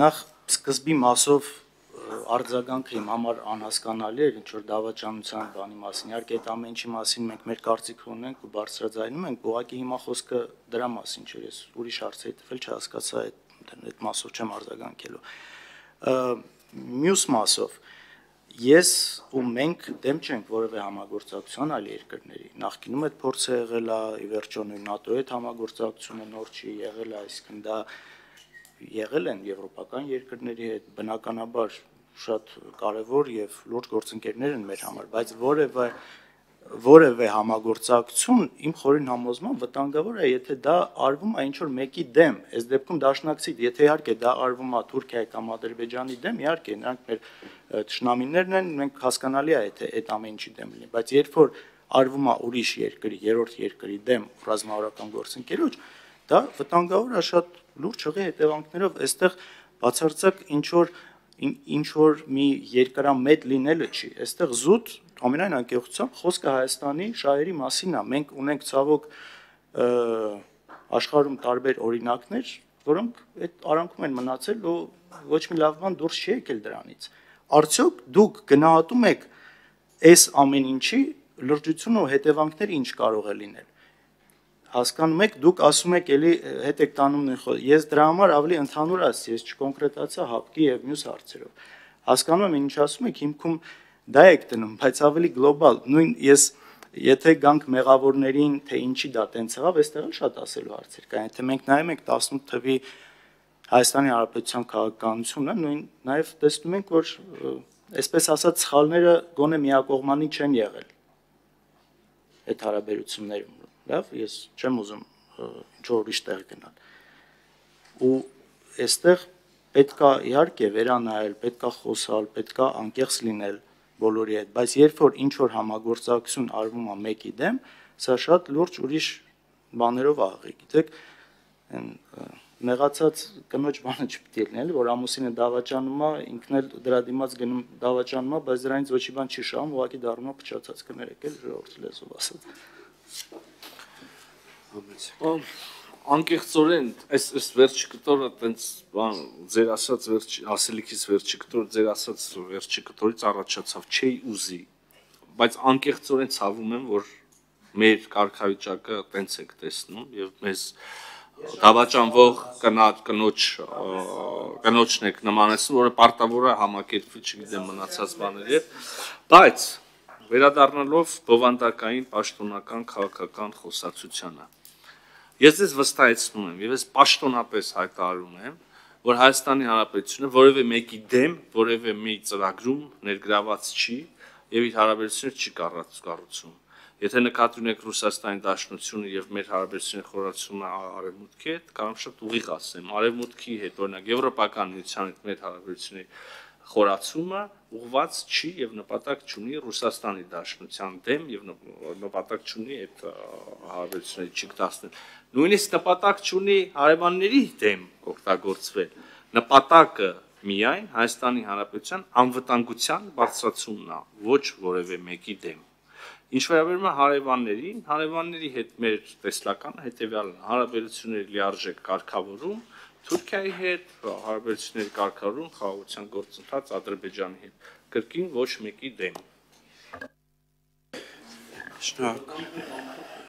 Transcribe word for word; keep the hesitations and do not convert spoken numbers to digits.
Նախ սկզբի մասով արձագանքը իմ համար անհասկանալի էր, ինչ որ դավաճանության բանի մասին, իհարկե այդ ամեն ինչի մասին մենք մեր կարծիքը ունենք ու բարձրաձայնում ենք, ուղղակի հիմա խոսքը դրա մասին չէ, ես ուրիշ հարցերի տվել չհասկացա այդ այդ մասով չեմ արձագանքելու։ Մյուս մասով ես ու մենք դեմ չենք որևէ համագործակցության այլ երկրների, նախկինում այդ փորձը եղել է, ի վերջո նույն ՆԱՏՕ-ի հետ համագործակցությունը նոր չի եղել, այսինքն դա եղել են եվրոպական երկրների հետ, բնականաբար շատ կարևոր եւ լուրջ գործընկերներ են մեր համար, բայց որևէ որևէ համագործակցություն իմ խորին համոզմամբ վտանգավոր է, եթե դա արվում է ինչ որ մեկի դեմ, այս դեպքում դաշնակցի, եթե իհարկե դա արվում է Թուրքիայի կամ Ադրբեջանի դեմ, իհարկե նրանք մեր թշնամիներն են, մենք հասկանալի է, եթե այդ ամեն ինչի դեմ լինի, բայց երբ որ արվում է ուրիշ երկրի, երրորդ երկրի դեմ ռազմավարական գործընկերոջ, դա վտանգավոր է շատ լուրջ հղի հետևանքներով, այստեղ բացարձակ ինչ որ ինչ որ մի երկարամետ լինելը չի, այստեղ զուտ ամենայն անկեղծությամբ խոսքը Հայաստանի շահերի մասին է, մենք ունենք ցավոք աշխարհում տարբեր օրինակներ, որոնք այդ արանքում են մնացել ու ոչ մի լավ բան դուրս չի եկել դրանից, արդյոք դուք գնահատում եք այս ամեն ինչի լրջությունը ու հետևանքները ինչ կարող է լինել, հասկանում եք, դուք ասում եք էլի հետ եք տանում նույն խոսքը, ես դրա համար ավելի ընդհանուր ասացի, ես չկոնկրետացա հապկի եւ մյուս հարցերով, հասկանում եմ ինչ ասում եք, հիմքում դա եք դնում, բայց ավելի գլոբալ, նույն ես եթե գանք մեղավորներին, թե ինչի դա տենց եղավ, այստեղ էլ շատ ասելու հարցեր կան, եթե մենք նայում ենք տասնութ թվի Հայաստանի Հանրապետության քաղաքականությունը, նույն նաեւ տեսնում ենք, որ այսպես ասած սխալները գոնե միակողմանի չեն եղել այդ հարաբերություններում Լավ, ես չեմ ուզում ինչ-որ ուրիշ տեղ գնալ, ու այստեղ պետք է իհարկե վերանայել, պետք է խոսալ, պետք է անկեղծ լինել բոլորի հետ, բայց երբ որ ինչ-որ համագործակցություն արվում է մեկի դեմ, սա շատ լուրջ ուրիշ բաներով աղի, գիտեք, մեղացած կնոջ բանը չպետք է լինի, որ ամուսինը դավաճանում է, ինքն էլ դրա դիմաց գնում դավաճանում է, բայց դրանից ոչ մի բան չի շահում, ուղղակի դառնում է փչացած կներեք էլ ժողովրդի լեզվով ասած։ Անկեղծորեն, այս այս վերջի կտորը տենց բան ձեր ասած վերջ ասելիքից վերջի կտորը ձեր ասած վերջի կտորից առաջացավ, չի ուզի, բայց անկեղծորեն ցավում եմ, որ մեր կարգավիճակը տենց եք տեսնում եւ մեզ դավաճանվող կնոջ կնոջն եք նմանեցնում, որը պարտավոր է համակերպվի, չգիտեմ, մնացած բաների հետ, բայց վերադառնալով բովանդակային պաշտոնական քաղաքական խոսակցությանը Ես ձեզ վստահեցնում եմ, եւ ես պաշտոնապես հայտարարում եմ, որ Հայաստանի Հանրապետությունը որևէ մեկի դեմ, որևէ մի ծրագրում ներգրաված չի եւ իր հարաբերությունները չի կառուցում։ Եթե նկատի ունեք Ռուսաստանի Դաշնությունը եւ մեր հարաբերությունների խորացումը Արևմուտքի հետ, կարող շատ ուղիղ ասեմ, Արևմուտքի հետ, օրինակ Եվրոպական միության հետ մեր հարաբերությունների խորացումը ուղղված չի եւ նպատակ չունի Ռուսաստանի Դաշնության դեմ եւ նպատակ չունի այդ հարաբերությունների չկտացնել։ Նույնիսկ նպատակ չունի հարևանների դեմ օգտագործվել։ Նպատակը միայն Հայաստանի Հանրապետության անվտանգության բարձրացումն է, ոչ որևէ մեկի դեմ։ Ինչ վերաբերում է հարևաններին, հարևանների հետ մեր տեսլականը հետեւյալն է՝ հարաբերությունների լիարժեք կարգավորում Թուրքիայի հետ, հարաբերությունների կարգավորում խաղաղության գործընթաց Ադրբեջանի հետ, կրկին ոչ մեկի դեմ։ Շնորհակալ